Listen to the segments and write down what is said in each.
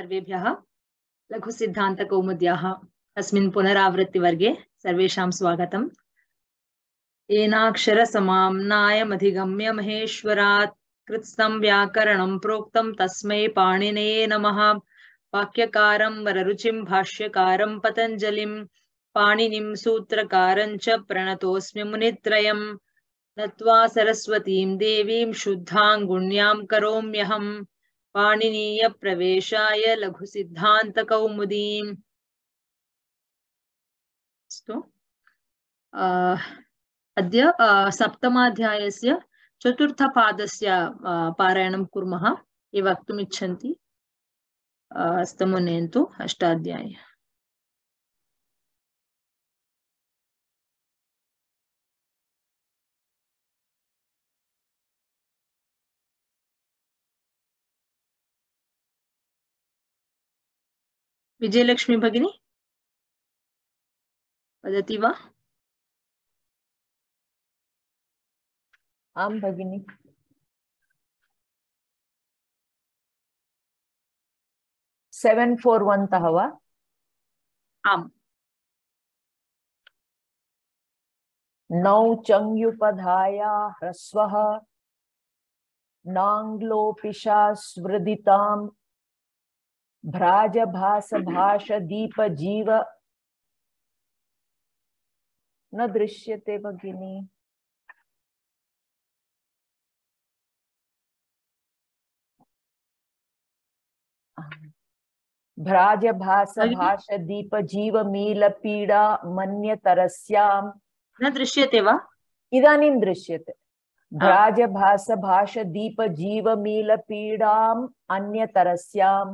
सर्वेभ्यः लघुसिद्धान्तकौमुद्याः अस्मिन् पुनरावृत्तिवर्गे सर्वेषां स्वागतम्। येनाक्षरसमाम्नायमधिगम्य महेश्वरात् कृत्स्नं व्याकरणं प्रोक्तं तस्मै पाणिनये नमः। वाक्यकारं वररुचिं भाष्यकारं पतञ्जलिं पाणिनिं सूत्रकारं च प्रणतोऽस्मि मुनित्रयम्। नत्वा सरस्वतीं देवीं शुद्धां गुण्यां करोम्यहम् पाणिनीय प्रवेशाय लघुसिद्धान्तकौमुदीम्। अद्य सप्तमाध्यायस्य चतुर्थपादस्य पारायणं कुर्मः। ये वक्तुम् इच्छन्ति हस्तमुन्नयन्तु। अष्टाध्यायी विजयलक्ष्मी भगिनी वदति वा? आं भगिनी। सेवेन् फोर् वन् तः वा? आम्। नौ चङ्युपधाया ह्रस्वः नाङ्ग्लोपिशास्वृदितां भ्राजभासभाषदीपजीव न दृश्यते भगिनी। भ्राजभासभाषदीपजीवमीलपीडा मन्यतरस्यां न दृश्यते वा? इदानीं दृश्यते। भ्राजभासभाषदीपजीवमीलपीडाम् अन्यतरस्यां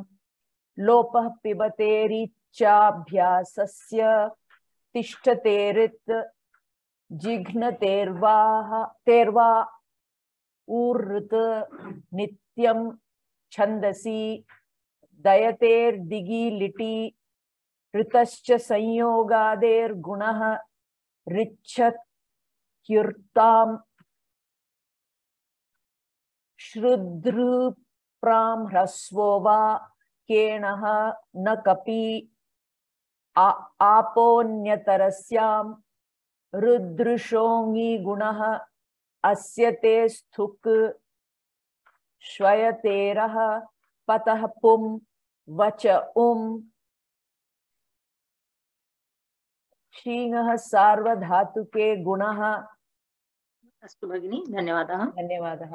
लोपः पिबतेरिच्छाभ्यासस्य तिष्ठतेरित् जिघ्नतेर्वा ऊर्ऋत् नित्यं छन्दसि दयतेर्दिगिलिटि ऋतश्च संयोगादेर्गुणः ऋच्छत्युर्ताम् श्रुद्रुप्रां ह्रस्वो वा केणः न कपि आपोन्यतरस्यां रुद्रुषोङि गुणः अस्य ते स्थुक् श्वयतेरः पतः पुं वच शीङः सार्वधातुके गुणः। अस्तु भगिनी, धन्यवादः। धन्यवादः।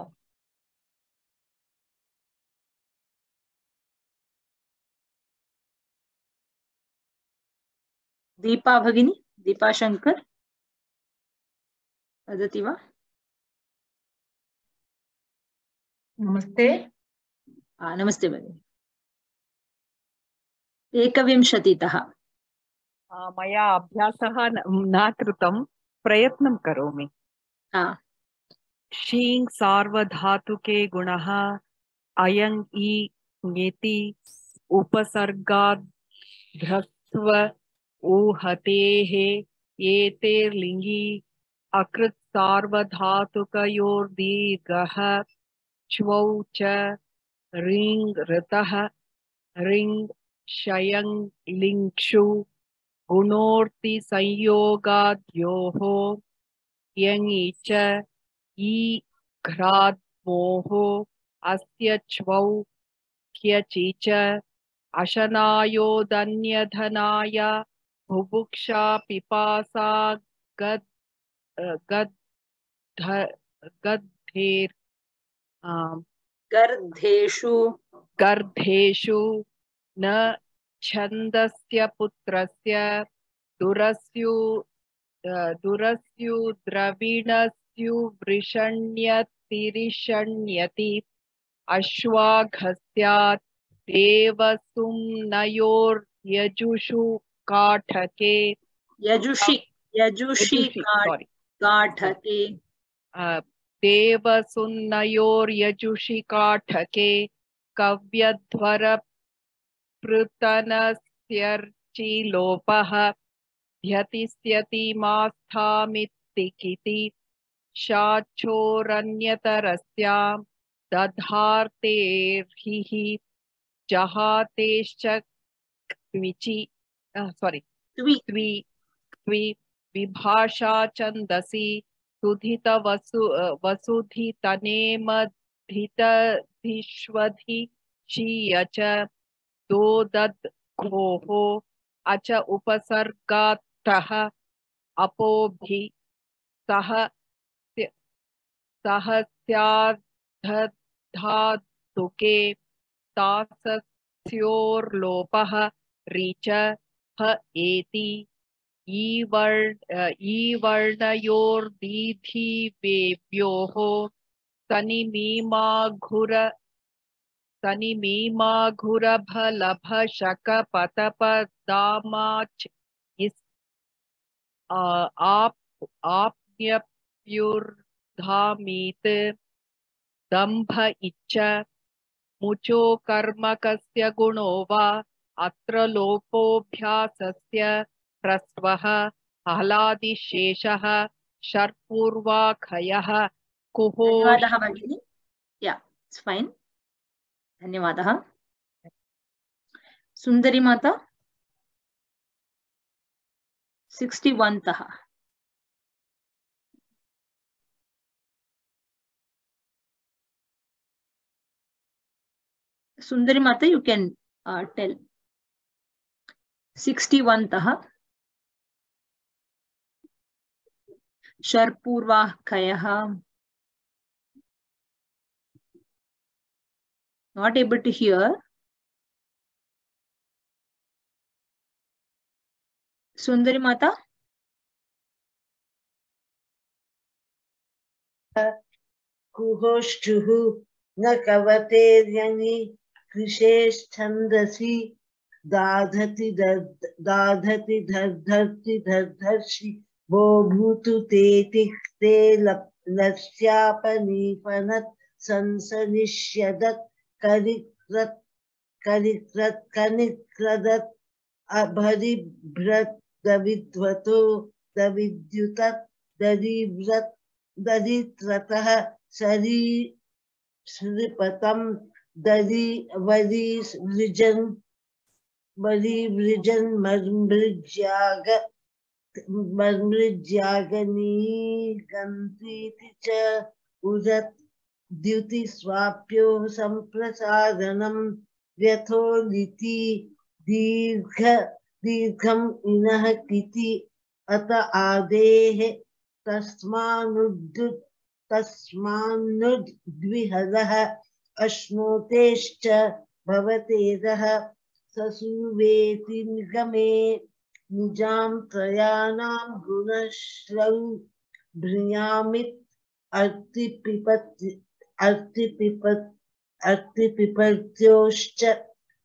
दीपा भगिनी, दीपा शंकर वदति वा? नमस्ते। नमस्ते भगिनी। 21तः मया अभ्यासः न कृतं, प्रयत्नं करोमि। शीं सार्वधातुके गुणः अयं इ ङेति उपसर्गाद् ऊहतेः एतेर्लिङ्गि अकृत् सार्वधातुकयोर्दीर्घः च्वौ च ऋङ् ऋतः ऋङ् शयं लिङ्क्षु गुणोर्ति संयोगाद्योः यङि च ई घ्राद्मोः अस्य च्वौ क्यचि च अशनायोदन्यधनाय बुभुक्षा पिपासा गर्धेषु न छन्दस्य पुत्रस्य दुरस्यु द्रविणस्युवृषण्यतिरिषण्यति अश्वाघस्यात् देवसुम्नयोर्यजुषु काठके देवसुन्नयोर्यजुषि काठके कव्यध्वरपृतनस्यर्चि लोपः ध्यतिस्यति मास्थामित्तिकिति शाचोरन्यतरस्यां दधार्तेर्हिः जहातेश्च क्विचि त्वि त्वि विभाषा छन्दसि वसुधितनेमधितधिष्वधि शीय च दोदद्घोः अच उपसर्गात्तः अपोभि सह स्याद्धधातुके तासस्योर्लोपः ऋच ह एति ईवर्णयोर्दीधिवेभ्योः तनिमीमाघुरभलभशकपतपदामाच् आप्न्यप्युर्धामीत् दम्भ इच्छ मुचो कर्मकस्य गुणो वा अत्र लोपोऽभ्यासस्य ह्रस्वः हलादिशेषः शर्पूर्वाखयः कुहो धन्यवादः भगिनी या इट्स फाइन धन्यवादः सुंदरी माता 61 तः सुंदरी माता यू कैन टेल 61 तः शर्पूर्वाखयः not able to hear सुंदरी माता कुहोष्ठुः न कवतेर्यनि कृशेश्छन्दसि दाधति दर्धति दर्धर्षि वो भूतु तेति ते लस्यापनीपनत् संसनिष्यदत् कनिक्रदत् अभरिभ्रत् दविद्वतो दविद्युतत् दरिव्रत् दरित्रतः सरीसृपतं वरीवृजन् मर्मृज्यागनीगन्तीति च उदत् द्युतिस्वाप्यो सम्प्रसारणं व्यथोलिति दीर्घम् इनः किति अत आदेः तस्मान्नुद्विहरः अश्नोतेश्च भवतेरः ससुवेति निगमे निजां त्रयाणां गुणश्रौ भ्रियामित् अर्तिपिपत्योश्च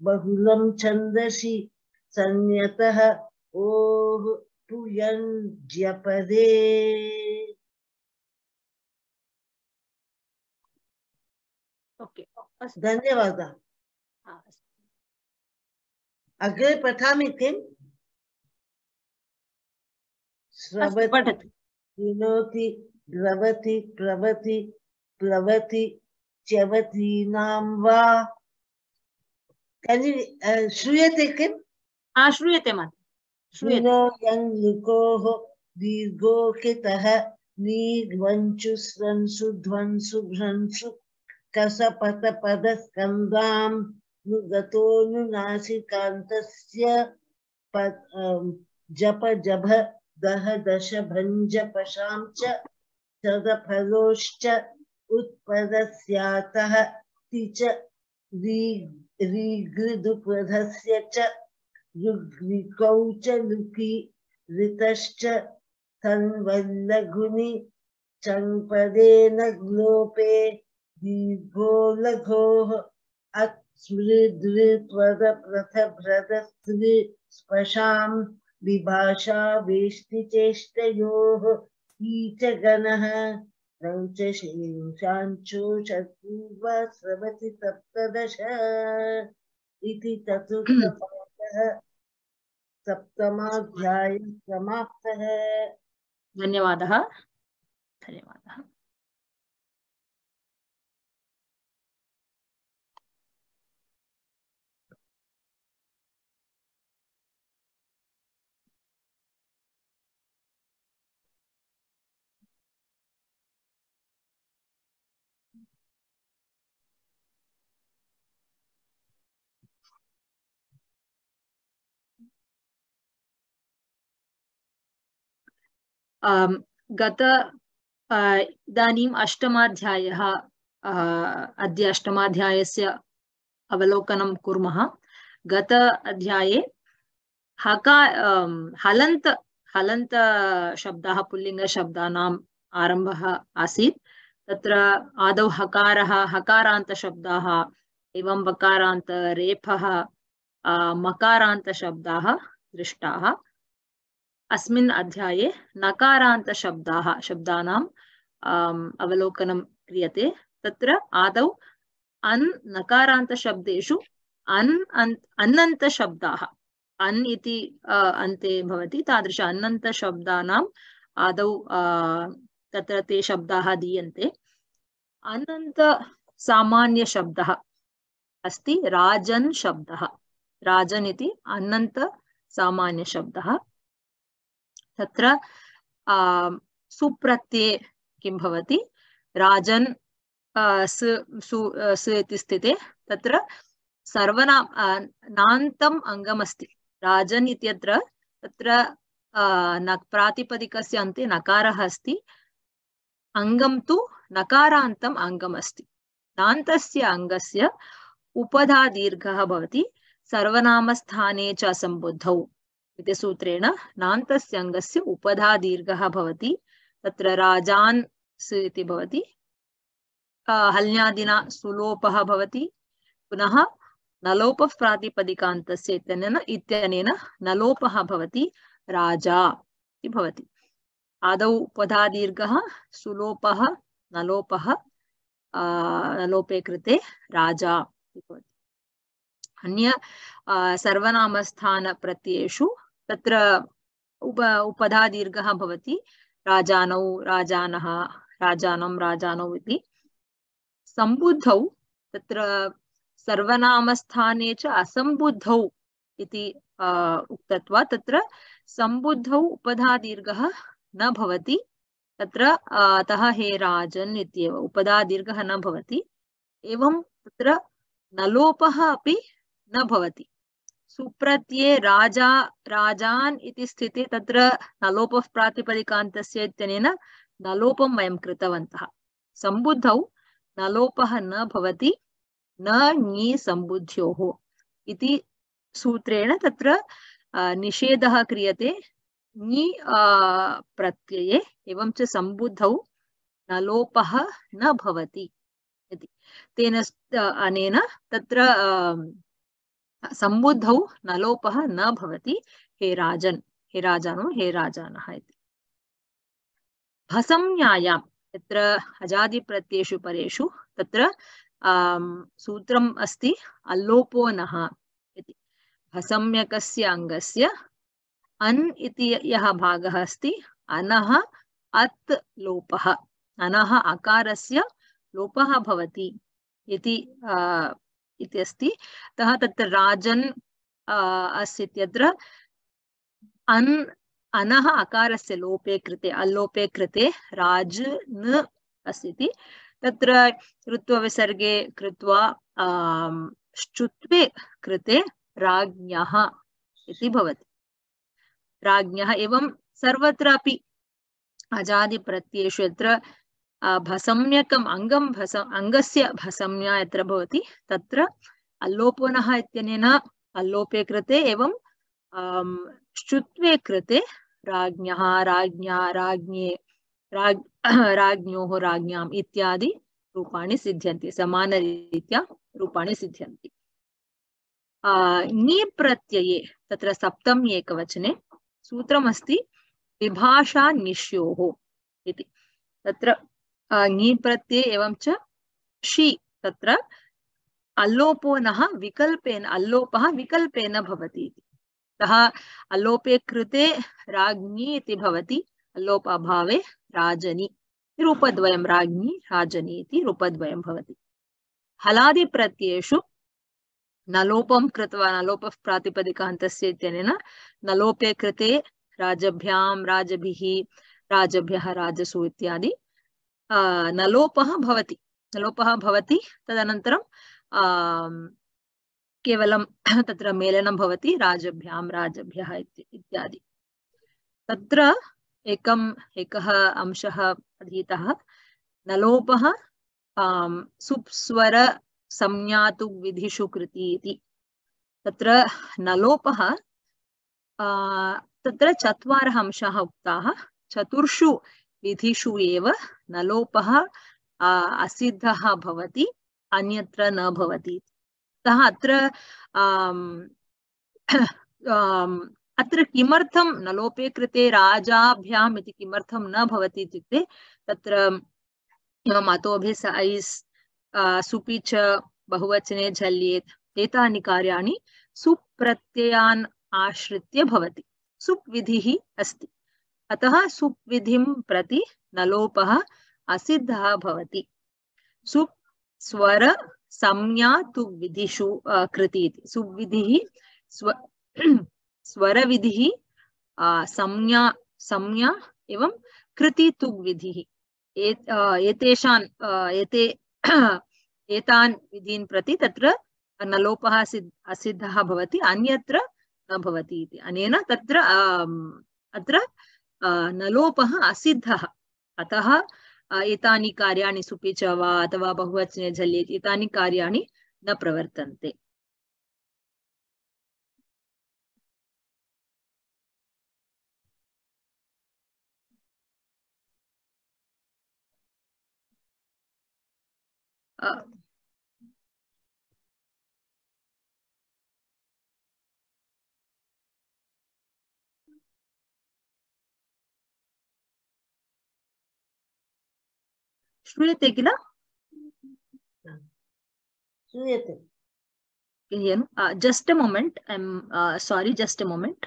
बहुलं छन्दसि संयतः ओः पुयञ्ज्यपदे ओके धन्यवादः अग्रे पठामि किम् श्रवति पठतु विनोति द्रवति प्लवति प्लवति च्यवतीनां वा श्रूयते किम् श्रूयते माता श्रूयते विनो यं लुकोः दीर्घो कितः नीग्वञ्चुस्रंसु ध्वंसु भ्रंसु कसपतपदस्कन्दां नुगतोऽनुनासिकान्तस्य जप जभ दह दश भञ्ज पशां च सदफलोश्च उत्पदस्यातः ति च रीगृदुपधस्य च ऋग्लिकौ च लुकि ऋतश्च तन्वल्लघुनि चङ्पदेन ग्लोपे दीर्घो लघोः अत्स्मृद्वृत्वदप्रथभ्रदस्त्रि स्पशां विभाषा वेष्टिचेष्टयोः ईचगणः रौच शेषाञ्चो शत्रुर्व स्रवति सप्तदश इति चतुर्थपाठः सप्तमाध्यायः समाप्तः धन्यवादः गत इदानीम् अष्टमाध्यायः अद्य अष्टमाध्यायस्य अवलोकनं कुर्मः। गत अध्याये हलन्त शब्दाः पुल्लिङ्गशब्दानाम् आरम्भः आसीत्। तत्र आदौ हकारः हकारान्तशब्दाः एवं वकारान्त रेफः मकारान्तशब्दाः दृष्टाः। अस्मिन् अध्याये नकारान्तशब्दाः शब्दानाम् अवलोकनं क्रियते। तत्र आदौ नकारान्तशब्देषु अन्नन्तशब्दाः अन् इति अन्ते भवति तादृश अन्नन्तशब्दानाम् आदौ तत्र ते शब्दाः दीयन्ते। अनन्त सामान्यशब्दः अस्ति राजन् शब्दः। राजन् इति अनन्त सामान्यशब्दः। तत्र सुप्रत्यये किं भवति राजन् स इति स्थिते तत्र सर्वनान्तम् अङ्गमस्ति। राजन् इत्यत्र तत्र प्रातिपदिकस्य अन्ते नकारः अस्ति। अङ्गं तु नकारान्तम् अङ्गमस्ति। नान्तस्य अङ्गस्य उपधा दीर्घः भवति सर्वनामस्थाने च असम्बुद्धौ इति सूत्रेण नान्तस्य अङ्गस्य उपधा दीर्घः भवति। तत्र राजान् इति भवति। हल्यादिना सुलोपः भवति। पुनः नलोपः प्रातिपदिकान्तस्य इत्यनेन नलोपः भवति राजा इति भवति। आदौ उपधा दीर्घः सुलोपः नलोपः नलोपे कृते राजा इति भवति। अन्य सर्वनामस्थान प्रत्ययेषु तत्र उपधा दीर्घः भवति राजानौ राजानः राजानं राजानौ इति। सम्बुद्धौ तत्र सर्वनामस्थाने च असम्बुद्धौ इति उक्तत्वात् तत्र सम्बुद्धौ उपधा दीर्घः न भवति। तत्र अतः हे राजन् इत्येव उपधा दीर्घः न भवति। एवं तत्र नलोपः अपि न भवति। सुप्रत्यये राजा राजान् इति स्थिते तत्र नलोपः प्रातिपदिकान्तस्य इत्यनेन नलोपं वयं कृतवन्तः। सम्बुद्धौ नलोपः न भवति न ङी सम्बुद्ध्योः इति सूत्रेण तत्र निषेधः क्रियते ङी प्रत्यये एवं च सम्बुद्धौ नलोपः न भवति इति। तेन अनेन तत्र सम्बुद्धौ नलोपः न भवति हे राजन् हे राजानो हे राजानः इति। भसंज्ञायां तत्र अजादिप्रत्ययेषु परेषु तत्र सूत्रम् अस्ति अल्लोपो नः इति। भसम्यकस्य अङ्गस्य अन् इति यः भागः अस्ति अनः अत् लोपः अनः अकारस्य लोपः भवति इति अस्ति। अतः तत्र राजन् अस्ति इत्यत्र अनः अकारस्य लोपे कृते अल्लोपे कृते राजन् अस्ति। तत्र ऋत्वविसर्गे कृत्वा श्चुत्वे कृते राज्ञः इति भवति। राज्ञः एवं सर्वत्रापि अजादिप्रत्ययेषु यत्र भसम्यकम् अङ्गं अङ्गस्य भसम्या यत्र भवति तत्र अल्लोपो नः इत्यनेन अल्लोपे कृते एवं श्चुत्वे कृते राज्ञः राज्ञा राज्ञे राज्ञोः राज्ञाम् इत्यादि रूपाणि सिद्ध्यन्ति। समानरीत्या रूपाणि सिद्ध्यन्ति। ङी प्रत्यये तत्र सप्तमी एकवचने सूत्रमस्ति विभाषा निश्योः इति। तत्र ङी प्रत्यये एवं च षि तत्र अल्लोपो नः विकल्पेन अल्लोपः विकल्पेन भवति इति। अतः अल्लोपे कृते राज्ञी इति भवति। अल्लोपाभावे राजनी रूपद्वयं राज्ञी राजनी इति रूपद्वयं भवति। हलादिप्रत्ययेषु नलोपं कृत्वा नलोपः प्रातिपदिकान्तस्य इत्यनेन नलोपे कृते राजभ्यां राजभिः राजभ्यः राजसु इत्यादि नलोपः भवति। नलोपः भवति। तदनन्तरं केवलं तत्र मेलनं भवति राजभ्यां राजभ्यः इत्यादि। तत्र एकः अंशः अधीतः नलोपः सुप्स्वर संज्ञातु विधिषु कृति इति। तत्र नलोपः तत्र चत्वारः अंशाः उक्ताः, चतुर्षु विधिषु एव नलोपः असिद्धः भवति, अन्यत्र न भवति। अतः अत्र किमर्थं नलोपे कृते राजाभ्याम् इति किमर्थं न भवति इत्युक्ते तत्र मतोभिः स ऐस् सुपि च बहुवचने झल्येत् एतानि कार्याणि सुप्रत्ययान् आश्रित्य भवति। सुप् विधिः अस्ति, अतः सुप् विधिं प्रति नलोपः असिद्धः भवति। सुप् स्वर संज्ञा तु विधिषु कृति इति। सुप् विधिः स्वर विधिः संज्ञा एवं कृति तु विधिः। एतान् विधीन् प्रति तत्र नलोपः असिद्धः भवति, अन्यत्र न भवति इति। अनेन तत्र अत्र नलोपः असिद्धः, अतः एतानि कार्याणि सुपि च वा अथवा बहुवचने झल्येत् एतानि कार्याणि न प्रवर्तन्ते। श्रूयते किल? श्रूयते। Just a moment. I'm sorry, just a moment.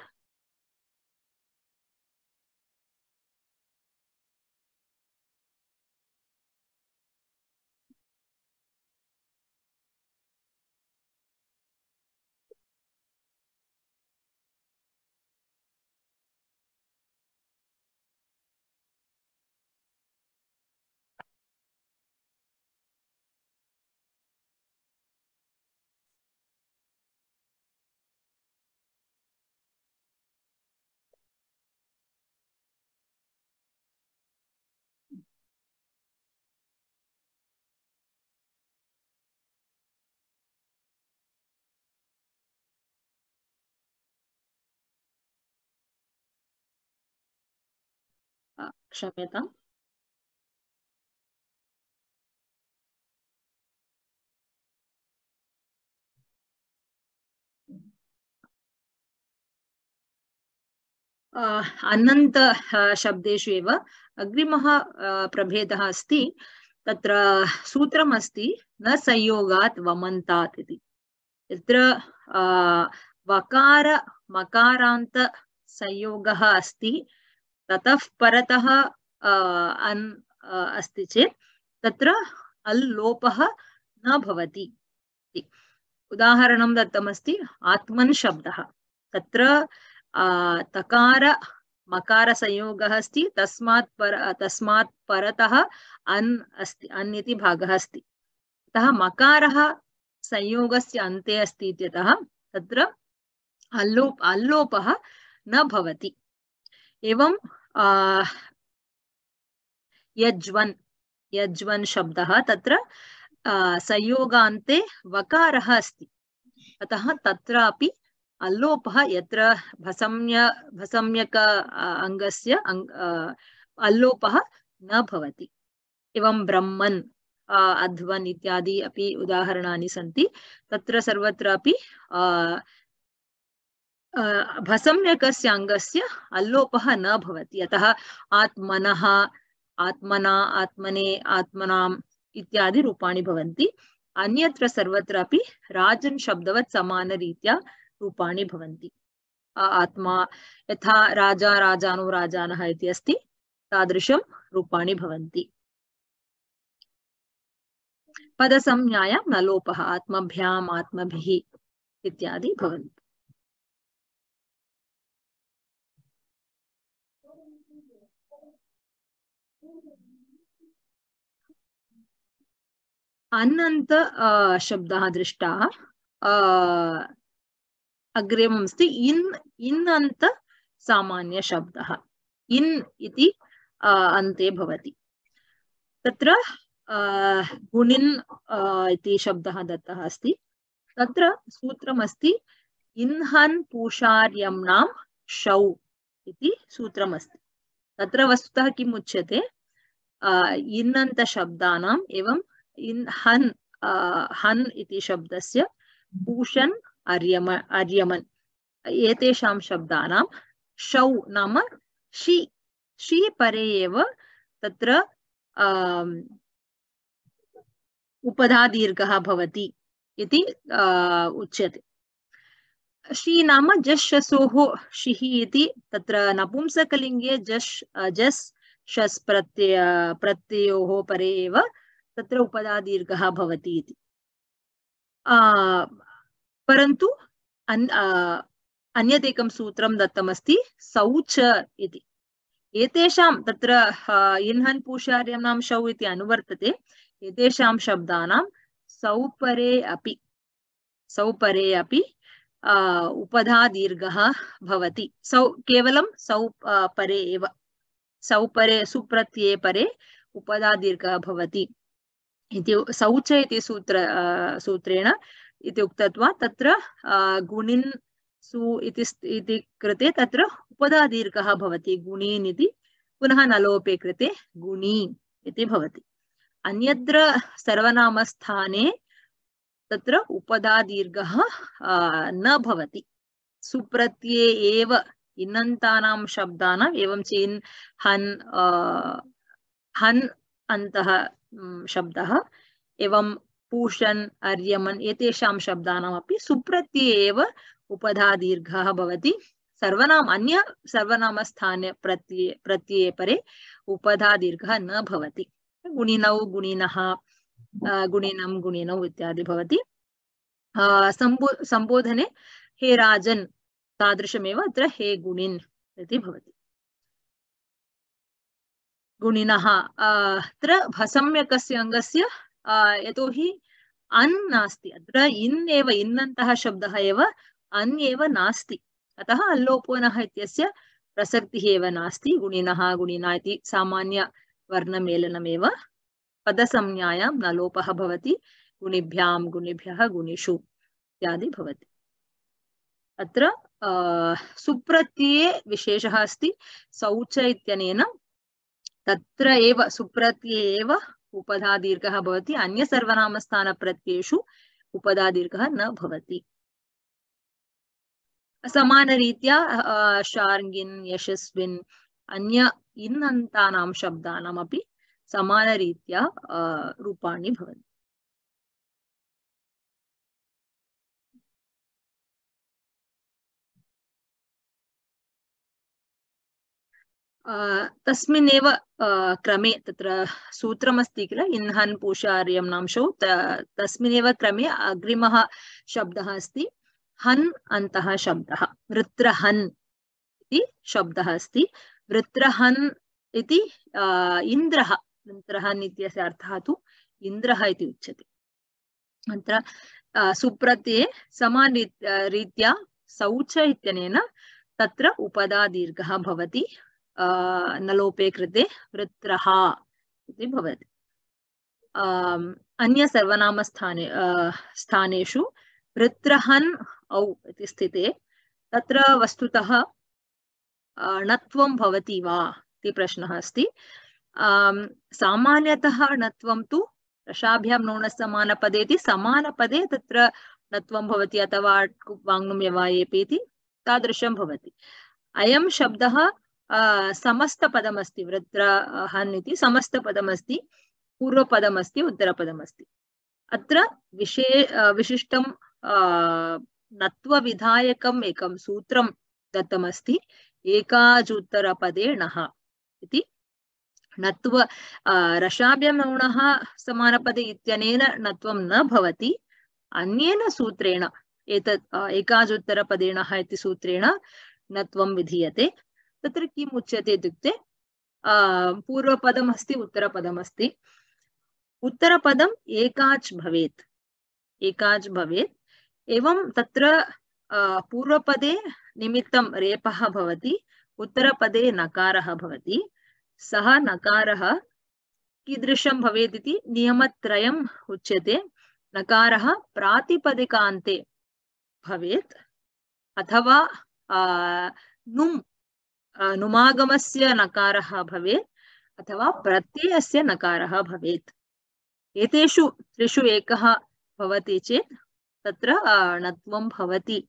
क्षम्यताम्। अनन्त शब्देषु एव अग्रिमः प्रभेदः अस्ति। तत्र सूत्रम् अस्ति न संयोगात् वमन्तात् इति। यत्र वकार मकारान्त संयोगः अस्ति, ततः परतः अन् अस्ति चेत् तत्र अल् लोपः न भवति। उदाहरणं दत्तमस्ति आत्मन् शब्दः। तत्र तकार मकार संयोगः अस्ति, तस्मात् परतः अन् अस्ति, अन् इति भागः अस्ति। अतः मकारः संयोगस्य अन्ते अस्ति इत्यतः तत्र अल्लोपः न भवति। एवं यज्वन् शब्दः, तत्र संयोगान्ते वकारः अस्ति, अतः तत्रापि अल्लोपः यत्र भसम्यक अङ्गस्य अल्लोपः न भवति। एवं ब्रह्मन् अध्वन् इत्यादि अपि उदाहरणानि सन्ति। तत्र सर्वत्रापि भसम्यकस्य अङ्गस्य अल्लोपः न भवति। अतः आत्मनः, आत्मना, आत्मने, आत्मनाम् इत्यादि रूपाणि भवन्ति। अन्यत्र सर्वत्रापि राजन् शब्दवत् समानरीत्या रूपाणि भवन्ति। आत्मा यथा राजा, राजानो, राजानः इति अस्ति, तादृशं रूपाणि भवन्ति। पदसंज्ञायां नलोपः आत्मभ्याम्, आत्मभिः इत्यादि भवन्ति। अनन्त शब्दः दृष्टाः। अग्रिमम् अस्ति इन् अन्त सामान्य शब्दः। इन् इति अन्ते भवति। तत्र गुणिन् इति शब्दः दत्तः अस्ति। तत्र सूत्रमस्ति इन्हन् पूषार्यम्णां शौ इति सूत्रमस्ति। तत्र वस्तुतः किम् उच्यते, इन्नन्त शब्दानाम् एवं हन् हन् इति शब्दस्य पूषन् अर्यमन् एतेषां शब्दानां शौ नाम शी परे एव तत्र उपधादीर्घः भवति इति उच्यते। शी नाम जस् शसोः शिः इति तत्र नपुंसकलिङ्गे जस् शस् प्रत्ययोः परे एव तत्र उपधादीर्घः भवति इति। परन्तु अन्यदेकं सूत्रं दत्तमस्ति सौच इति। एतेषां तत्र इन्हन् पूषार्यम्णां शौ इति अनुवर्तते। एतेषां शब्दानां सौपरे अपि उपधादीर्घः भवति। केवलं परे एव, सौपरे सुप्रत्यये परे उपधादीर्घः भवति इति सौच इति सूत्रेण इति उक्तत्वात् तत्र गुणिन् सु इति कृते तत्र उपधादीर्घः भवति गुणीन् इति। पुनः नलोपे कृते गुणी इति भवति। अन्यत्र सर्वनामस्थाने तत्र उपधादीर्घः न भवति। सुप्रत्यये एव इन्नन्तानां शब्दानाम् एवं च इन् हन् अन्तः शब्दः एवं पूषन् अर्यमन् एतेषां शब्दानामपि सुप्रत्यये एव उपधादीर्घः भवति। अन्य सर्वनामस्थाने प्रत्यये परे उपधादीर्घः न भवति। गुणिनौ गुणिनः गुणिनं गुणिनौ इत्यादि भवति। संबोधने हे राजन् तादृशमेव अत्र हे गुणिन् इति भवति। गुणिनः अत्र भसम्यकस्य अङ्गस्य यतोहि अन् नास्ति, अत्र इन् एव इन्नन्तः शब्दः एव अन् एव नास्ति, अतः अल्लोपोनः इत्यस्य प्रसक्तिः एव नास्ति। गुणिनः गुणिना इति सामान्य वर्णमेलनमेव। पदसंज्ञायां नलोपः भवति। गुणिभ्यां गुणिभ्यः गुणिषु इत्यादि भवति। अत्र सुप्रत्यये विशेषः अस्ति। सौच इत्यनेन तत्र एव सुप्रत्यये एव उपधादीर्घः भवति। अन्य सर्वनामस्थानप्रत्ययेषु उपधादीर्घः न भवति। समानरीत्या शार्ङ्गिन् यशस्विन् अन्य इन्नन्तानां शब्दानामपि समानरीत्या रूपाणि भवन्ति। तस्मिन्नेव क्रमे तत्र सूत्रमस्ति किल इन्हन् पूषार्यम्णां शौ, तस्मिन्नेव क्रमे अग्रिमः शब्दः अस्ति हन् अन्तः शब्दः। वृत्रहन् इति शब्दः अस्ति। वृत्रहन् इति इन्द्रः, वृत्रहन् इत्यस्य अर्थः तु इन्द्रः इति उच्यते। अत्र सुप्रत्यये समानरीत्या सौच इत्यनेन तत्र उपधादीर्घः भवति। नलोपे कृते वृत्रः इति भवति। अन्य सर्वनामस्थाने स्थानेषु वृत्रहन् औ इति स्थिते तत्र वस्तुतः णत्वं भवति वा इति प्रश्नः अस्ति। सामान्यतः णत्वं तु रसाभ्यां नोणसमानपदे इति समानपदे तत्र णत्वं भवति, अथवा वाङ्नुम्यवायेपि इति तादृशं भवति। अयं शब्दः समस्तपदमस्ति। वृत्रहन् इति समस्तपदमस्ति, पूर्वपदमस्ति, उत्तरपदमस्ति। अत्र विशिष्टं नत्वविधायकम् एकं सूत्रं दत्तमस्ति। एकाजुत्तरपदे णः इति। नत्व रसाभ्यां नौणः समानपदे इत्यनेन णत्वं न भवति। अन्येन सूत्रेण एतत् एकाजुत्तरपदे णः इति सूत्रेण णत्वं विधीयते। तत्र किम् उच्यते इत्युक्ते पूर्वपदमस्ति, उत्तरपदमस्ति। उत्तरपदम् एकाच् भवेत्, एकाच् भवेत्। एवं तत्र पूर्वपदे निमित्तं रेपः भवति, उत्तरपदे नकारः भवति सः नकारः कीदृशं भवेत् इति नियमत्रयम् उच्यते नकारः प्रातिपदिकान्ते भवेत् अथवा नुमागमस्य नकारः भवेत् अथवा प्रत्ययस्य नकारः भवेत् एतेषु त्रिषु एकः भवति चेत् तत्र णत्वं भवति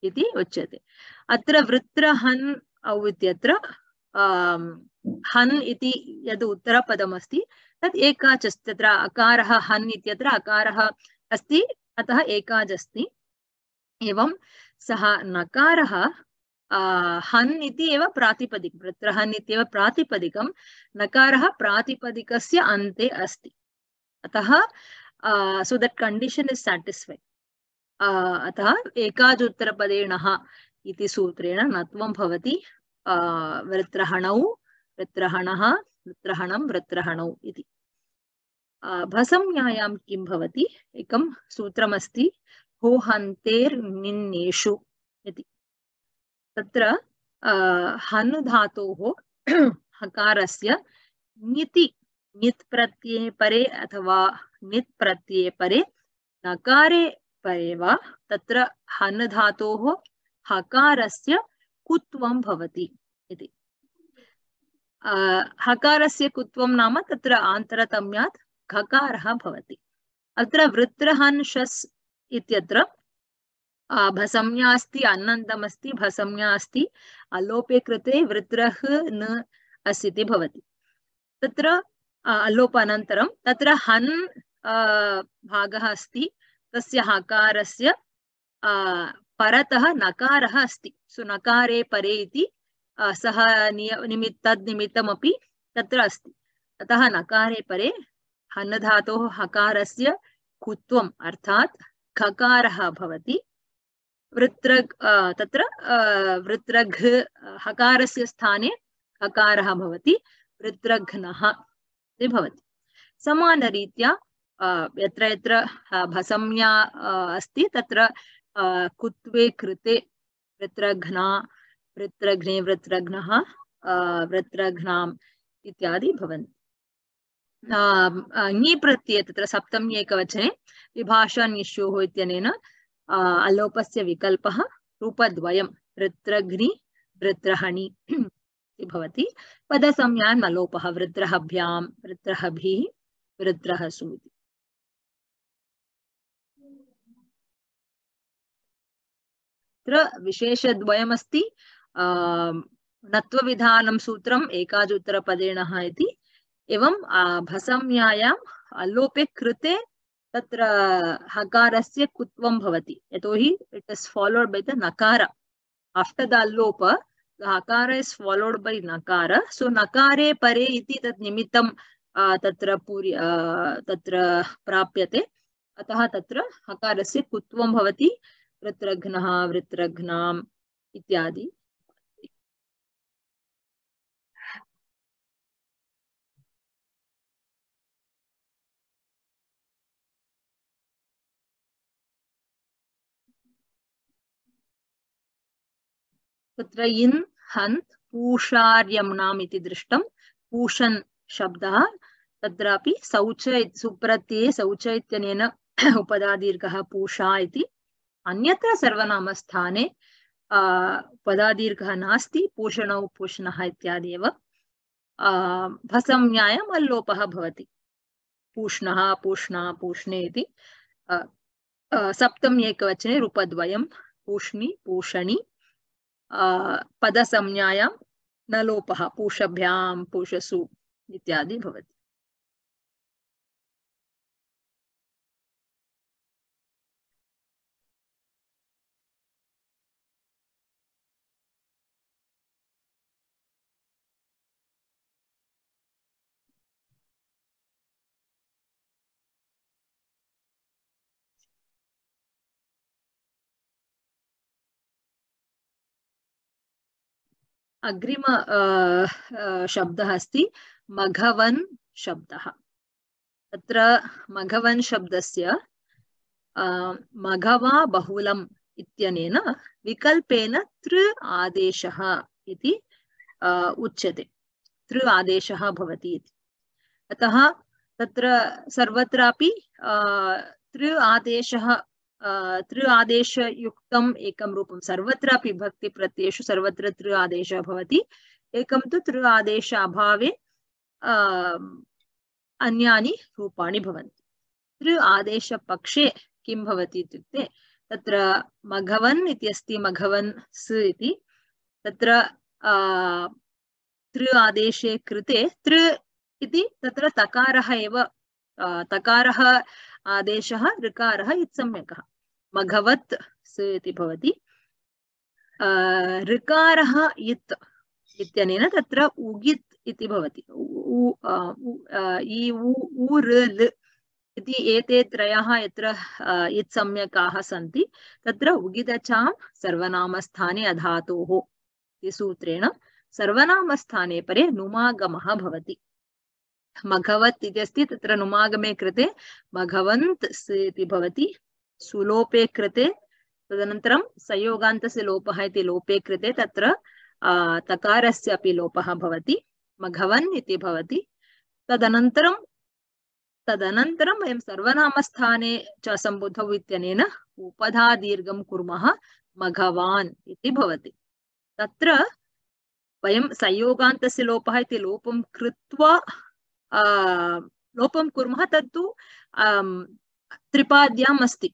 इति उच्यते अत्र वृत्रहन् औ इत्यत्र हन् इति यद् उत्तरपदमस्ति तत् एकाच् अस्ति तत्र अकारः हन् इत्यत्र अकारः अस्ति अतः एकाच् अस्ति एवं सः नकारः हन् इति एव प्रातिपदिकं वृत्रहन् इत्येव प्रातिपदिकं नकारः प्रातिपदिकस्य अन्ते अस्ति अतः so that condition is satisfied अतः एकाच् उत्तरपदेणः इति सूत्रेण नत्वं भवति वृत्रहणौ वृत्रहणः वृत्रहणं वृत्रहणौ इति भसंज्ञायां किं भवति एकं सूत्रमस्ति होहन्तेर्निन्नेषु इति तत्र हन् धातोः हकारस्य ङिति ङित् प्रत्यये परे अथवा ङित् प्रत्यये परे नकारे परे वा तत्र हन् धातोः हकारस्य कुत्वं भवति इति हकारस्य कुत्वं नाम तत्र आन्तरतम्यात् खकारः भवति अत्र वृत्रहन् शस् इत्यत्र भसंज्ञा अस्ति अन्नन्तमस्ति भसंज्ञा अस्ति अलोपे कृते वृत्रः न अस्ति भवति तत्र अलोपानन्तरं तत्र हन् भागः अस्ति तस्य हकारस्य परतः नकारः अस्ति सो नकारे परे इति सः तद्निमित्तमपि तत्र अस्ति अतः नकारे परे हन् धातोः हकारस्य कुत्वम् अर्थात् खकारः भवति वृत्रग् तत्र वृत्रघ् हकारस्य स्थाने हकारः भवति वृत्रघ्नः इति भवति समानरीत्या यत्र यत्र भसंज्ञा अस्ति तत्र कुत्वे कृते वृत्रघ्ना वृत्रघ्ने वृत्रघ्नः वृत्रघ्नाम् इत्यादि भवन्ति ङि प्रत्यये तत्र सप्तमी एकवचने विभाषा निश्योः इत्यनेन अलोपस्य विकल्पः रूपद्वयं वृत्रघ्नि वृत्रहणि भवति पदसंज्ञान् अलोपः वृत्रहभ्यां वृत्रहभिः वृत्रहसु इति तत्र विशेषद्वयमस्ति नत्वविधानं सूत्रम् एकाच् उत्तरपदेणः इति एवं भसंज्ञायाम् अलोपे कृते तत्र हकारस्य कुत्वं भवति यतोहि it is followed by the नकार आफ्टर द अलोप द हकार इज फॉलोड बाय नकार सो नकारे परे इति तत् निमित्तं तत्र तत्र प्राप्यते अतः तत्र हकारस्य कुत्वं भवति वृत्रघ्नः वृत्रघ्नाम् इत्यादि तत्र इन् हन्त् पूषार्यम्नाम् इति दृष्टं पूषन् शब्दः तत्रापि शौच सुप्रत्यये शौच इत्यनेन उपधादीर्घः पूषा इति अन्यत्र सर्वनामस्थाने उपधादीर्घः नास्ति पूषणौ पूषणः इत्यादि एव भसंज्ञायाम् अल्लोपः भवति पूष्णः पूष्णा पूष्णे इति सप्तमी एकवचने रूपद्वयं पूष्णि पूषणि पदसंज्ञायां न लोपः पूषभ्यां पूषसु इत्यादि भवति अग्रिम शब्दः अस्ति मघवन् शब्दः तत्र मघवन् शब्दस्य मघवा बहुलम् इत्यनेन विकल्पेन तृ आदेशः इति उच्यते तृ आदेशः भवति इति अतः तत्र सर्वत्रापि तृ आदेशयुक्तम् एकं रूपं सर्वत्रापि भक्तिप्रत्ययेषु सर्वत्र तृ आदेशः भवति एकं तु तृ आदेश अभावे अन्यानि रूपाणि भवन्ति तृ आदेशपक्षे किं भवति इत्युक्ते तत्र मघवन् इति अस्ति मघवन् स् इति तत्र तृ आदेशे कृते तृ इति तत्र तकारः एव तकारः आदेशः ऋकारः इत्सम्यकः मघवत् स् इति भवति ऋकारः इत् इत्यनेन तत्र उगित् इति भवति उ ऋ ल इति एते त्रयः यत्र इत्सम्यकाः सन्ति तत्र उगिदचां सर्वनामस्थाने अधातोः इति सूत्रेण सर्वनामस्थाने परे नुमागमः भवति मघवत् इति अस्ति तत्र नुमागमे कृते मघवन्त् स् इति भवति सुलोपे कृते तदनन्तरं संयोगान्तस्य लोपः इति लोपे कृते तत्र तकारस्य अपि लोपः भवति मघवन् इति भवति तदनन्तरं वयं सर्वनामस्थाने च सम्बुद्धौ इत्यनेन उपधा दीर्घं कुर्मः मघवान् इति भवति तत्र वयं संयोगान्तस्य लोपः इति लोपं कृत्वा लोपं कुर्मः तत्तु त्रिपाद्याम् अस्ति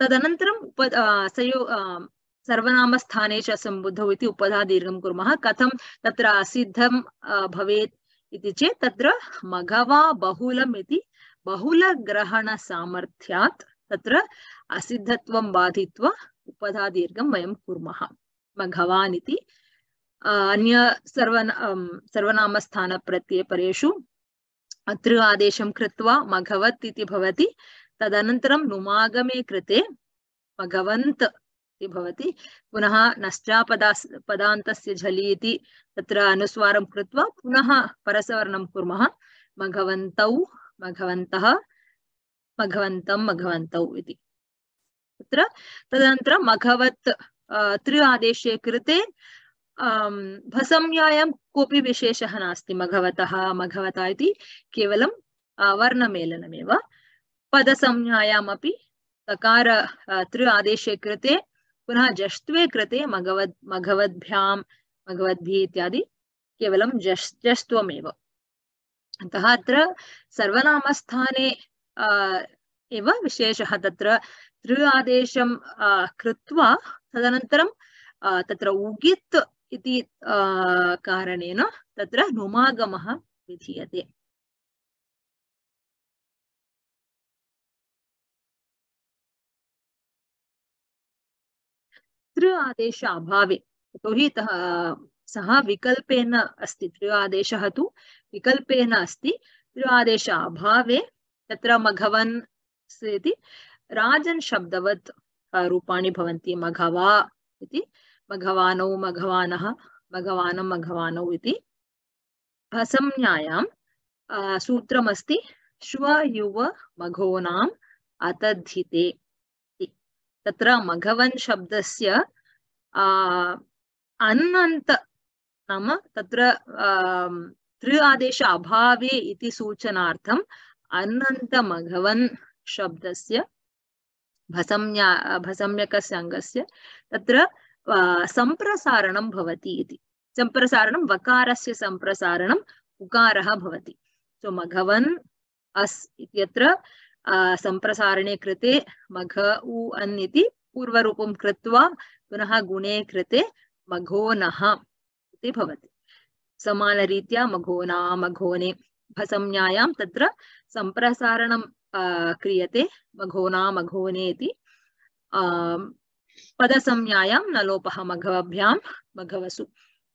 तदनन्तरं सर्वनामस्थाने च सम्बुद्धौ इति उपधा दीर्घं कुर्मः कथं तत्र असिद्धं भवेत् इति चेत् तत्र मघवा बहुलम् इति बहुलग्रहणसामर्थ्यात् तत्र असिद्धत्वं बाधित्वा उपधा दीर्घं वयं कुर्मः मघवान् इति अन्य सर्वनामस्थानप्रत्यये परेषु तृ आदेशं कृत्वा मघवत् इति भवति तदनन्तरं नुमागमे कृते मघवन्त् इति भवति पुनः नश्चापदान्तस्य झलि इति तत्र अनुस्वारं कृत्वा पुनः परसवर्णं कुर्मः मघवन्तौ मघवन्तः मघवन्तं मघवन्तौ इति तत्र तदनन्तरं मघवत् तृ आदेशे कृते भसंज्ञायां कोऽपि विशेषः नास्ति मघवतः मघवता इति केवलं वर्णमेलनमेव पदसंज्ञायामपि तकार तृ आदेशे कृते पुनः जष्ट्वे कृते मघवद्भ्यां मघवद्भिः इत्यादि केवलं जष्ट्वमेव अतः अत्र सर्वनामस्थाने एव विशेषः तत्र तृ आदेशं कृत्वा तदनन्तरं तत्र उगित् इति कारणेन तत्र नुमागमः विधीयते तृ आदेश अभावे यतोहि सः विकल्पेन अस्ति तृ आदेशः तु विकल्पेन अस्ति तृ आदेश अभावे तत्र मघवन् इति राजन् शब्दवत् रूपाणि भवन्ति मघवा इति मघवानौ मघवानः मघवानं मघवानौ इति भसंज्ञायां सूत्रमस्ति श्व युव मघोनाम् अतद्धिते तत्र मघवन् शब्दस्य अन्नन्त नाम तत्र तृ आदेश अभावे इति सूचनार्थम् अन्नन्त मघवन् शब्दस्य भसम्यकस्य अङ्गस्य तत्र सम्प्रसारणं भवति इति सम्प्रसारणं वकारस्य सम्प्रसारणम् उकारः भवति सो मघवन् अस् इत्यत्र सम्प्रसारणे कृते मघ उ अन् इति पूर्वरूपं कृत्वा पुनः गुणे कृते मघोनः इति भवति समानरीत्या मघोना मघोने भसंज्ञायां तत्र सम्प्रसारणं क्रियते मघोना मघोने इति पदसंज्ञायां न लोपः मघवभ्यां मघवसु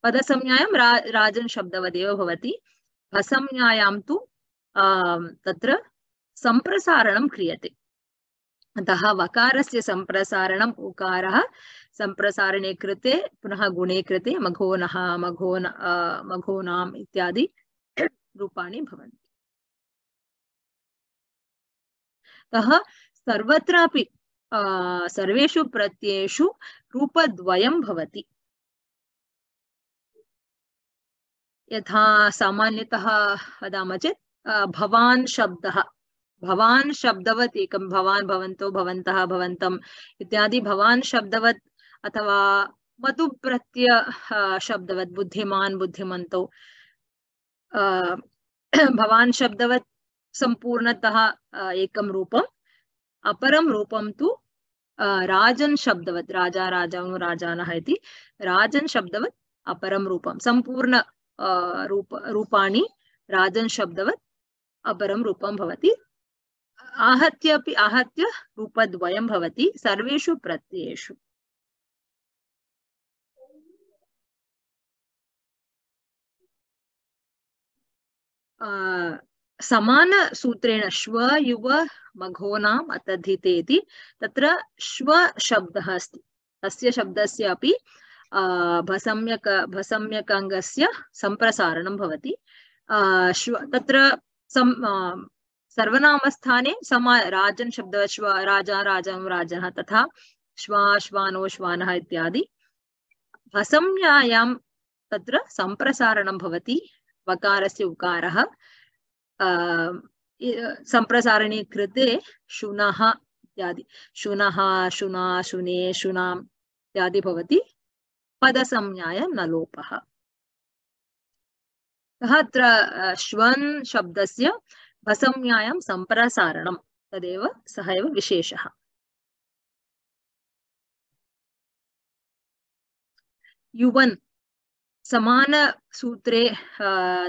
पदसंज्ञायां राजन् शब्दवदेव भवति भसंज्ञायां तु तत्र सम्प्रसारणं क्रियते अतः वकारस्य सम्प्रसारणम् उकारः सम्प्रसारणे कृते पुनः गुणे कृते मघोनः मघोनाम् इत्यादि रूपाणि भवन्ति अतः सर्वत्रापि सर्वेषु प्रत्ययेषु रूपद्वयं भवति यथा सामान्यतः वदामः चेत् भवान् शब्दः, भवान् शब्दवत् एकं, भवान् भवन्तो भवन्तः भवन्तम् इत्यादि भवान् शब्दवत्, अथवा मतु प्रत्यय शब्दवत् बुद्धिमान् बुद्धिमन्तौ, भवान् शब्दवत् सम्पूर्णतः एकं रूपम्, अपरं रूपं तु राजन् शब्दवत्, राजा राजाओ राजानः इति राजन् शब्दवत् अपरं रूपं, सम्पूर्ण रूपाणि राजन् शब्दवत् अपरं रूपं भवति। आहत्य रूपद्वयं भवति सर्वेषु प्रत्ययेषु। समान सूत्रेण श्व युव मघोनाम् अतधिते इति तत्र श्व शब्दः अस्ति, तस्य शब्दस्य अपि भसम्यकङ्गस्य सम्प्रसारणं भवति। तत्र सर्वनामस्थाने राजन् शब्दः श्व, राजा राजं राजः, तथा श्वा श्वानो श्वानः इत्यादि। भसम्यायां तत्र सम्प्रसारणं भवति, वकारस्य उकारः सम्प्रसारणे कृते शुनः इत्यादि, शुनः शुना शुने शुनाम् इत्यादि भवति, पदसंज्ञायां न लोपः। अत्र श्वन् शब्दस्य भसंज्ञायां सम्प्रसारणं, तदेव सः एव विशेषः। युवन् समान सूत्रे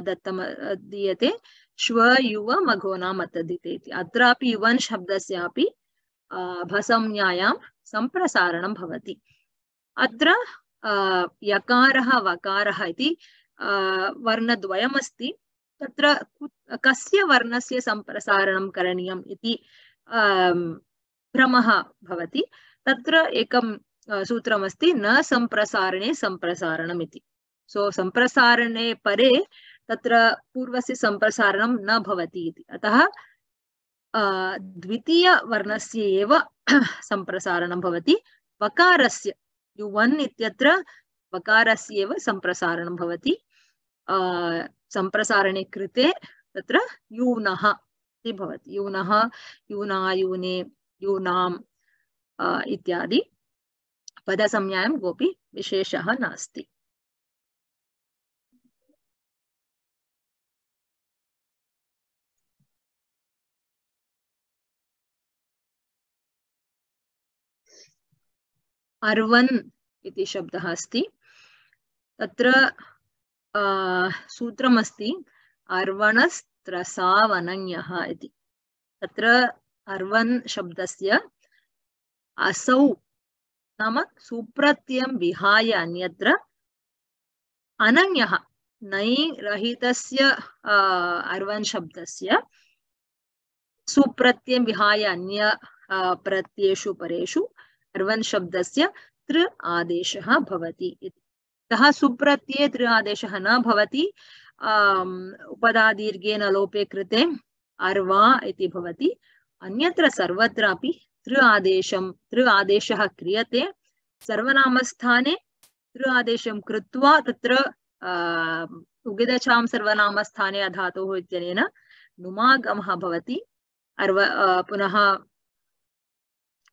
दत्तम दीयते श्व युव मघोनाम् अतधिते इति। अत्रापि युवन् शब्दस्यापि भसंज्ञायां सम्प्रसारणं भवति। अत्र यकारः वकारः इति वर्णद्वयमस्ति, तत्र कस्य वर्णस्य सम्प्रसारणं करणीयम् इति भ्रमः भवति। तत्र एकं सूत्रमस्ति, न सम्प्रसारणे सम्प्रसारणम् इति। सो सम्प्रसारणे परे तत्र पूर्वस्य सम्प्रसारणं न भवति इति, अतः द्वितीयवर्णस्य एव सम्प्रसारणं भवति। वकारस्य युवन् इत्यत्र वकारस्य एव सम्प्रसारणं भवति। सम्प्रसारणे कृते तत्र यूनः इति भवति, यूनः यूना यूने यूनाम् इत्यादि। पदसंज्ञायां कोऽपि विशेषः नास्ति। अर्वन् इति शब्दः अस्ति, तत्र सूत्रमस्ति अर्वणस्त्रसावनन्यः इति। तत्र अर्वन् शब्दस्य असौ नाम सुप्रत्ययं विहाय अन्यत्र अनन्यः नै रहितस्य अर्वन् शब्दस्य सुप्रत्ययं विहाय अन्य प्रत्ययेषु परेषु अर्वन् शब्दस्य तृ आदेशः भवति। अतः सुप्रत्यये तृ आदेशः न भवति, उपधादीर्घेन लोपे कृते अर्वा इति भवति। अन्यत्र सर्वत्रापि तृ आदेशः क्रियते। सर्वनामस्थाने तृ आदेशं कृत्वा तत्र उगिदचां सर्वनामस्थाने अधातुः इत्यनेन नुमागमः भवति। पुनः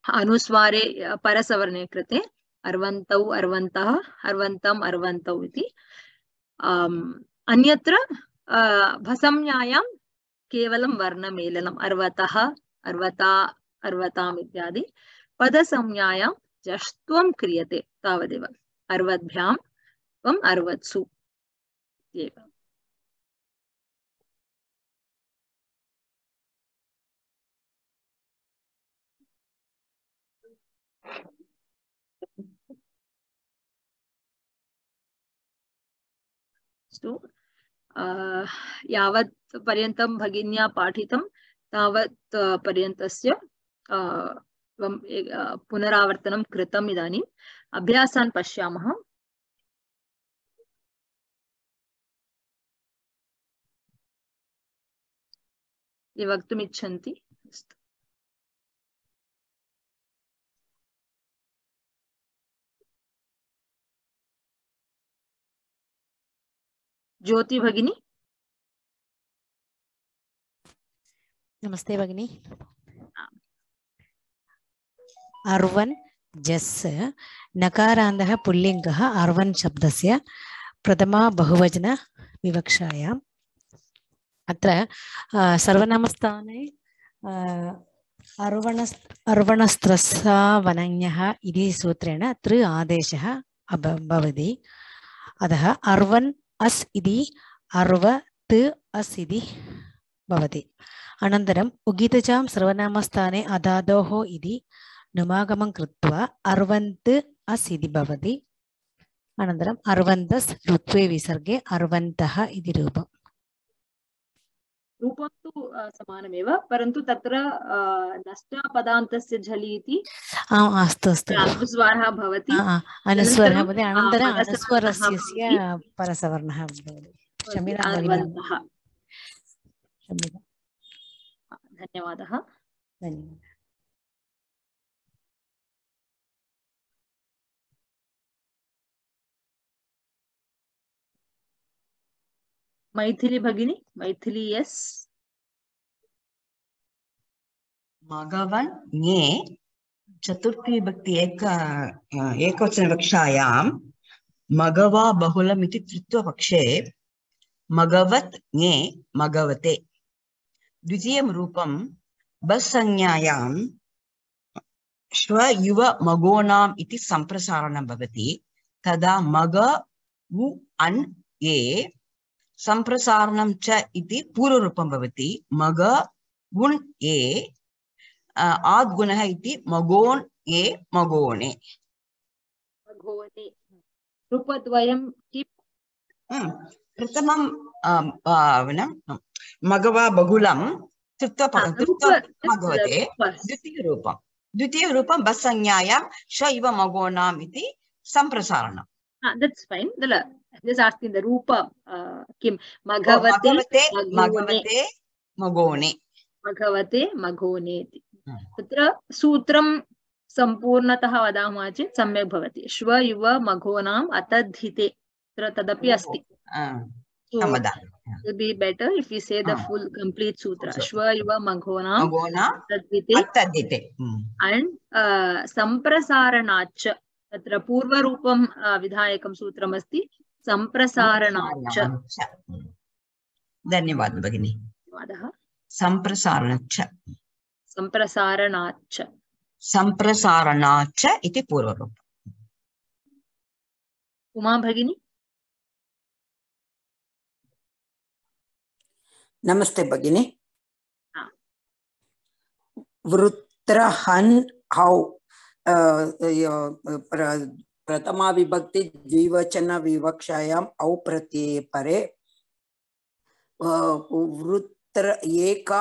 अनुस्वारे परसवर्णे कृते अर्वन्तौ अर्वन्तः अर्वन्तम् अर्वन्तौ इति। अन्यत्र भसंज्ञायां केवलं वर्णमेलनम्, अर्वतः अर्वता अर्वताम् इत्यादि। पदसंज्ञायां जष्ट्वं क्रियते तावदेव, अर्वद्भ्यां त्वम् अर्वत्सु इत्येव। यावत् पर्यन्तं भगिन्या पाठितं तावत् पर्यन्तस्य पुनरावर्तनं कृतम्। इदानीम् अभ्यासान् पश्यामः। ये वक्तुम् इच्छन्ति? ज्योति भगिनी। नमस्ते भगिनी। अर्वन् जस् नकारान्तः पुल्लिङ्गः अर्वन् शब्दस्य प्रथमा बहुवचन विवक्षायाम् अत्र सर्वनामस्थाने अर्वणस्त्रस्सावनञ्ञः इति सूत्रेण तृ आदेशः भवति। अतः अर्वन् अस् इति अर्वत् अस् इति भवति। अनन्तरम् उगितजां सर्वनामस्थाने अदादोः इति नुमागमं कृत्वा अर्वन्त् अस् इति भवति। अनन्तरम् अर्वन्तस् ऋत्वे विसर्गे अर्वन्तः इति रूपम्। रूपं तु समानमेव, परन्तु तत्र नष्टपदान्तस्य झलि इति अस्तु अस्तु अनुस्वारः भवति। अनुस्वारः भवति। अनन्तरम् अनुस्वारस्य परसवर्णः भवति। क्षम्यतां भगिनी। धन्यवादः। धन्यवादः। मैथिली भगिनी, मैथिली यस। मघवन् ङे चतुर्थी विभक्ति एकवचन विवक्षायां मघवा बहुलम् इति तृतीयपक्षे मघवत् ङे मघवते। द्वितीयं रूपं बस् संज्ञायां श्व युव मघोनाम् इति सम्प्रसारणं भवति। तदा मघ उ अन् ए सम्प्रसारणं च इति पूर्वरूपं भवति। मघ उन् ए आद्गुणः इति मघोन् ए मघोणे। मघोने रूपद्वयं किम्? प्रथमं मघवा बहुलं मघवते। द्वितीयरूपं बस् संज्ञायां श इव मघोनाम् इति सम्प्रसारणम्। That's fine. Just asking the rupa kim Maghavate Maghone. Maghavate Maghone. Tatra sutram sampurnatah vadamah chit samyak bhavati. Shva yuva maghonam atadhite. Tadapi asti. So it will be better if we say the full complete sutra. Shva yuva maghonam atadhite. And samprasaranacha. तत्र पूर्वरूपं विधायकं सूत्रमस्ति सम्प्रसारणाच्च। धन्यवादः भगिनी। धन्यवादः। सम्प्रसारणाच्च सम्प्रसारणाच्च सम्प्रसारणाच्च इति पूर्वरूपम्। उमा भगिनी। नमस्ते भगिनी। वृत्रहन् हौ प्रथमा विभक्ति द्विवचन विवक्षायाम् औ प्रत्यये परे वृत्र एका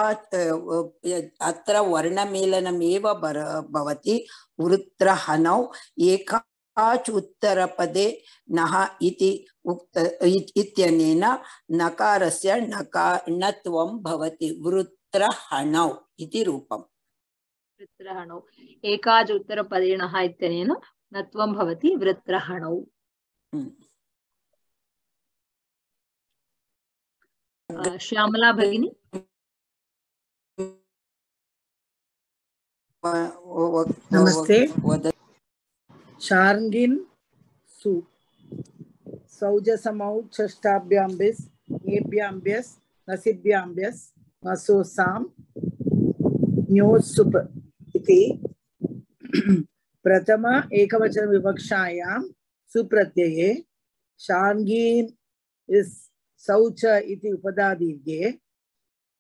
अत्र वर्णमेलनमेव भवति। वृत्रहनौ एकाच उत्तरपदे नः इति इत्यनेन नकारस्य णत्वं भवति। वृत्रहनौ इति रूपम्। वृत्रहणौ एकाच उत्तरपदेनः इत्यनेन नत्वं भवति वृत्रहणौ। श्यामला भगिनी। नमस्ते। शार्ङ्गिन् सु सौजसमौ षष्ठाभ्यां बिस् एभ्यां ब्यस् नसिभ्यां ब्यस् मसोसां न्योसुप इति प्रथम एकवचन विवक्षायां सुप्रत्यये शार्ङ्गीन् इस् सौच इति उपधादीर्घे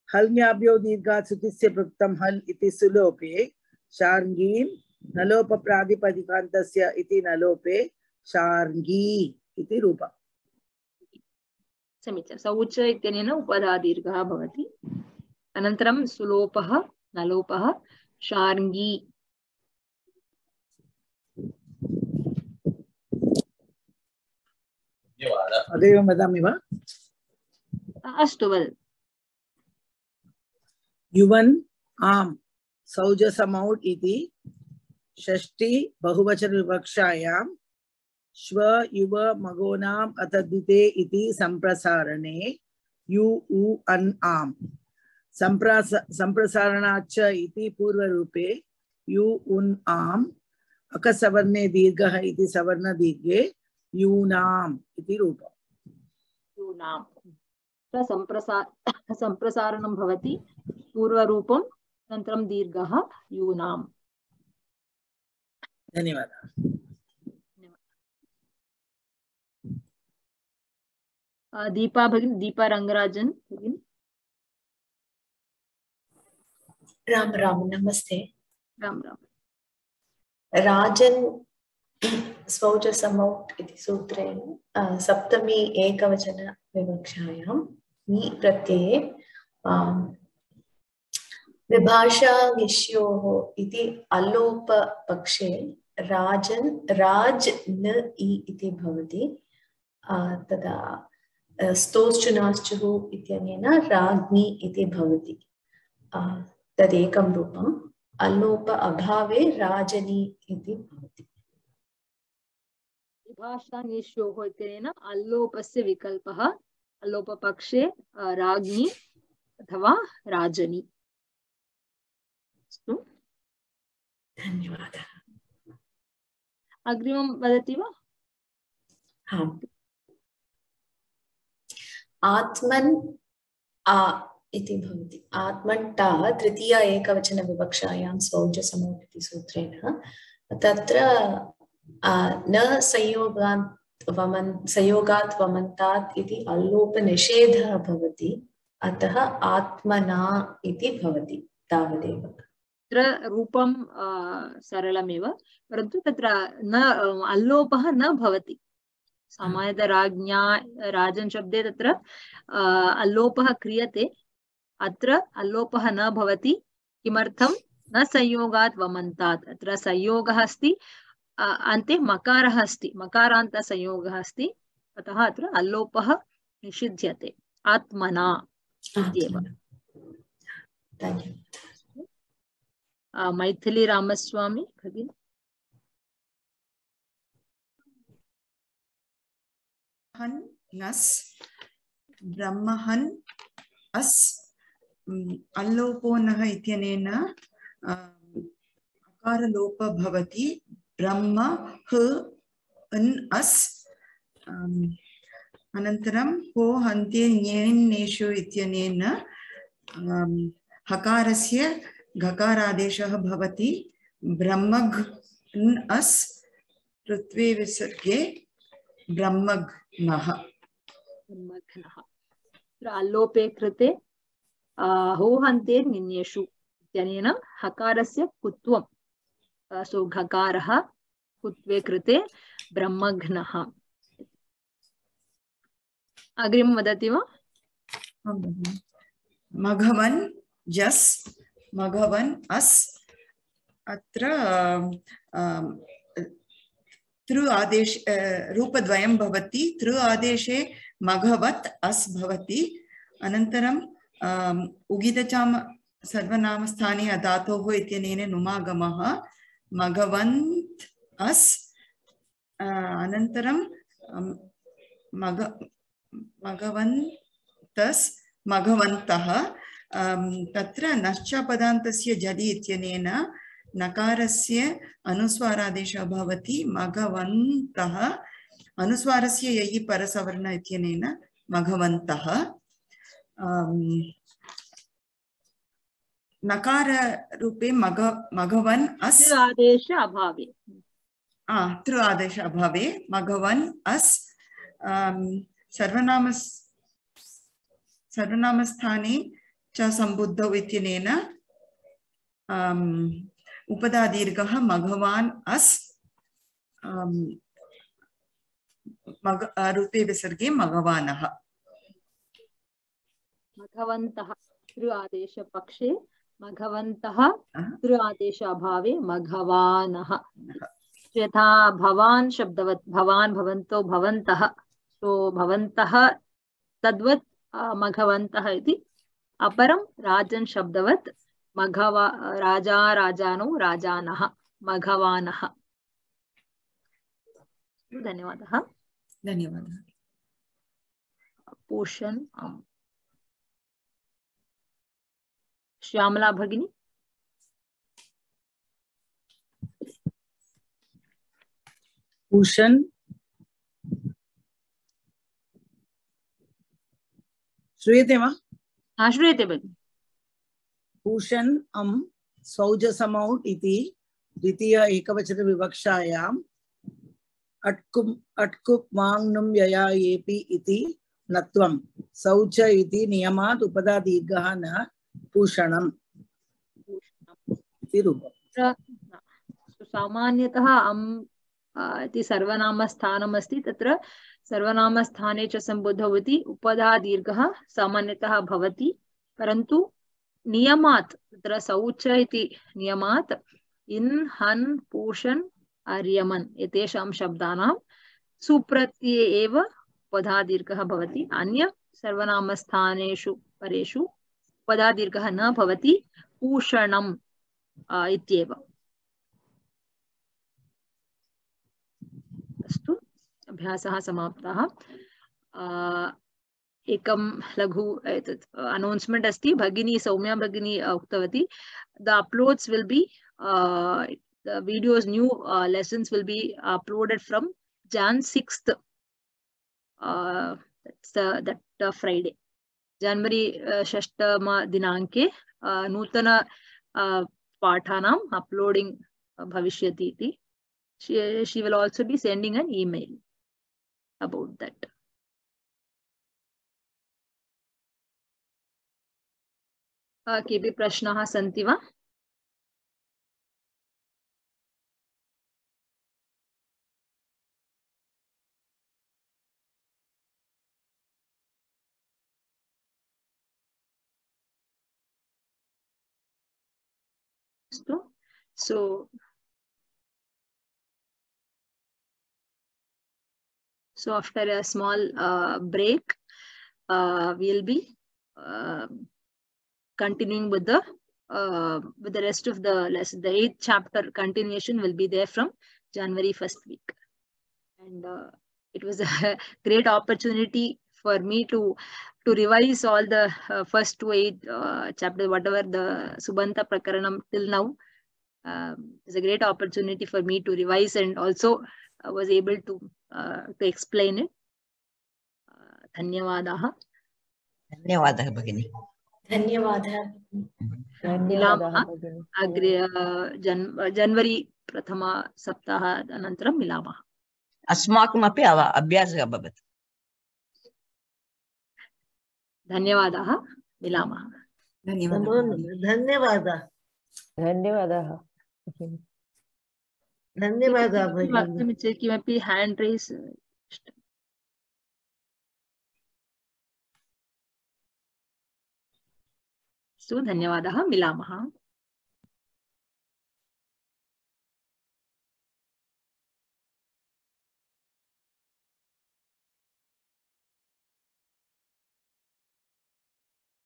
हल्ङ्याभ्यो दीर्घात् सुतिस्य प्रोक्तं हल् इति सुलोपे शार्ङ्गीन् नलोप प्रातिपदिकान्तस्य इति नलोपे शार्ङ्गी इति रूपम्। समीचीनं। सौच इत्यनेन उपधादीर्घः भवति। अनन्तरं सुलोपः नलोपः शार्ङ्गी। अदेव वदामि वा? अस्तु वद। युवन् आम् सौजसमौ इति षष्ठी बहुवचन विवक्षायां श्व युव मगोनाम् अतद्धिते इति संप्रसारणे यु उ अन् आम् संप्रसारणाच्च इति पूर्वरूपे यु उन् आम् अकसवर्णे दीर्घः इति सवर्णदीर्घे यूनाम् इति रूपम्। यूनाम् संप्रसारणं भवति पूर्वरूपं अनन्तरं दीर्घः यूनाम्। धन्यवादः। दीपा भगिनी, दीपा रंगराजन भगिनी। राम राम, नमस्ते। राम राम। राजन् स्वौजसमौ इति सूत्रेण सप्तमी एकवचन विवक्षायां नी प्रत्यये विभाषा निश्योः इति अल्लोपपक्षे राजन् राज न इति भवति। तदा स्तोश्चुनाश्चुः इत्यनेन राज्ञी इति भवति। तदेकं रूपम्। अल्लोप अभावे राजनी इति भवति। विभाषा निश्योः इत्यनेन अल्लोपस्य विकल्पः अल्लोपपक्षे राज्ञी अथवा राजनी। अस्तु, धन्यवादः। अग्रिमं वदति वा? हाँ। आत्मन् आ इति भवति। आत्मन्टा तृतीया एकवचन विवक्षायां स्वौजसमौ इति सूत्रेण तत्र न संयोगात् वमन्तात् इति अल्लोपनिषेधः भवति। अतः आत्मना इति भवति। तावदेव। तत्र रूपं सरलमेव, परन्तु तत्र न अल्लोपः न भवति। सामान्यतः राज्ञा राजन् शब्दे तत्र अल्लोपः क्रियते, अत्र अल्लोपः न भवति। किमर्थं? न संयोगात् वमन्तात्। अत्र संयोगः अस्ति, अन्ते मकारः अस्ति, मकारान्त संयोगः अस्ति, अतः अत्र अल्लोपः निषिध्यते। आत्मना इत्येव। मैथिली रामस्वामी भगिनी। नस् ब्रह्महन् अस् अल्लोपो नः इत्यनेन अकारलोपः भवति। ब्रह्म ह अन् अस् अनन्तरं हो हन्ते ञेन्नेषु इत्यनेन हकारस्य घकारादेशः भवति। ब्रह्मघ् अन् अस् ऋत्वे विसर्गे ब्रह्मघ्नः। अल्लोपे कृते होहन्ते निन्येषु इत्यनेन हकारस्य कुत्वं, सो घकारः कुत्वे कृते ब्रह्मघ्नः। अग्रिमं वदति वा? मघवन् जस् मघवन् अस् अत्र तृ आदेश रूपद्वयं भवति। तृ आदेशे मघवत् अस् भवति। अनन्तरं उगितचाम सर्वनामस्थाने धातोः इत्यनेन नुमागमः मघवन्त् अस्। अनन्तरं मघवन्तस् मघवन्तः। तत्र नश्चपदान्तस्य जलि इत्यनेन नकारस्य अनुस्वारादेशः भवति। मघवन्तः अनुस्वारस्य ययि परसवर्ण इत्यनेन मघवन्तः। नकार रूपे मघवन् अस् आदेश अभावे तृ आदेश अभावे मघवन् अस् सर्वनामस्थाने च सम्बुद्धौ इत्यनेन उपधादीर्घः मघवान् अस् रूपे विसर्गे मघवानः। मघवन्तः तृ आदेश पक्षे मघवन्तः, तृ आदेश अभावे मघवानः। यथा भवान् शब्दवत् भवान् भवन्तो भवन्तः, सो भवन्तः तद्वत् मघवन्तः इति। अपरं राजन् शब्दवत् राजा राजानो राजानः मघवानः। धन्यवादः। धन्यवादः। पोषण श्यामला भगिनी। पूषण श्रूयते वा? श्रूयते भगिनी। पूषण सौजसमौट् इति द्वितीय एकवचन विवक्षायाम् अट्कुप् माङ्नुं यया येपि इति नत्वं शौच इति नियमात् उपधा दीर्घः न पूषणम् इति रूपम्। सामान्यतः इति सर्वनामस्थानम् अस्ति, तत्र सर्वनामस्थाने च सम्बुद्धौ इति उपधा दीर्घः सामान्यतः भवति, परन्तु नियमात् तत्र शौच इति नियमात् इन् हन् पूषन् आर्यमन् एतेषां शब्दानां सुप्रत्यये एव उपधा दीर्घः भवति। अन्य सर्वनामस्थानेषु परेषु उपधा दीर्घः न भवति, पूषणम् इत्येव। अस्तु, अभ्यासः समाप्तः। एकं लघु अनौन्स्मेंट अस्ति। भगिनी सौम्या भगिनी उक्तवती, the uploads will be the videos, new lessons will be uploaded from Jan 6th, that Friday, January 6th दिनाङ्के नूतन पाठानाम् uploading bhavishyati iti. She will also be sending an email about that. केऽपि प्रश्नाः सन्ति वा? So after a small break, we'll be continuing with the rest of the lesson. The 8th chapter continuation will be there from January 1st week, and it was a great opportunity for me to revise all the first 8 chapters, whatever the Subanta Prakaranam till now. It's a great opportunity for me to revise, and also I was able to explain it. धन्यवादाः। धन्यवादः भगिनी। धन्यवादः। मिलामः अग्रे January प्रथम सप्ताह अनन्तरं मिलामः। अस्माकमपि अभ्यासः भवति। धन्यवादाः, मिलामः। धन्यवादः। धन्यवादः। धन्यवादः वक्तुम् इच्छति किमपि हैंड रेस? धन्यवादः, मिलामः।